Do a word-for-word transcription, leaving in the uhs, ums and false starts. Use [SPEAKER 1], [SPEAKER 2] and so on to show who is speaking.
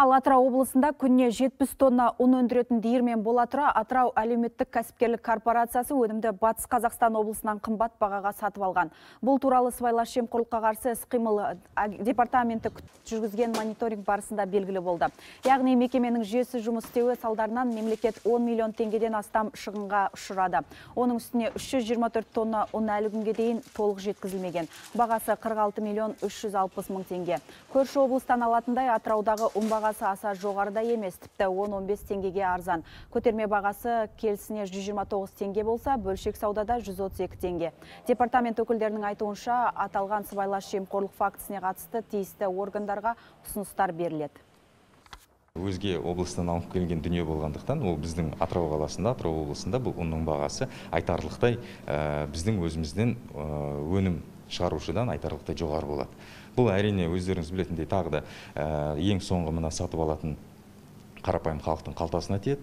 [SPEAKER 1] Ал Атырау облысында күнне жетпіс тонна ұн өндіретін диірмен бола тұра, Атырау әлеуметтік кәсіпкерлік корпорациясы өнімді Батыс Қазақстан облысынан қымбат бағаға сатып алған. Бұл туралы сыбайлас жемқорлыққа қарсы іс-қимыл департаменті жүргізген мониторинг барысында белгілі болды. Яғни мекеменің жүйесі жұмыс істеуі салдарынан мемлекет он миллион теңгеден астам шығынға ұшырады. Оның үстіне үш жүз жиырма төрт тонна ұн әлі күнге дейін толық жеткізілмеген. Бағасы қырық алты миллион үш жүз алпыс мың теңге. Көрші облыстан алатындай Атыраудағы ұн бағасы аса жоғарыда емес, тіпті он он бес теңгеге арзан. Көтерме бағасы келісіне жүз жиырма тоғыз теңге болса, бөлшек саудада жүз отыз екі теңге. Департамент өкілдерінің айтуынша, аталған сыбайлас жемқорлық фактісіне қатысты тиісті органдарға ұсыныстар беріледі.
[SPEAKER 2] Өзге облыстан алып келген дүние болғандықтан, ол біздің Атырау қаласында, Атырау облысында бұл ұнның бағасы айтарлықтай біздің өзімізден өнім шығарушыдан айтарлықтай жоғары болады. Бұл әрине өздеріңіз білетіндей тағы да ең соңғы мына сатып алатын қарапайым халықтың қалтасына тиеді.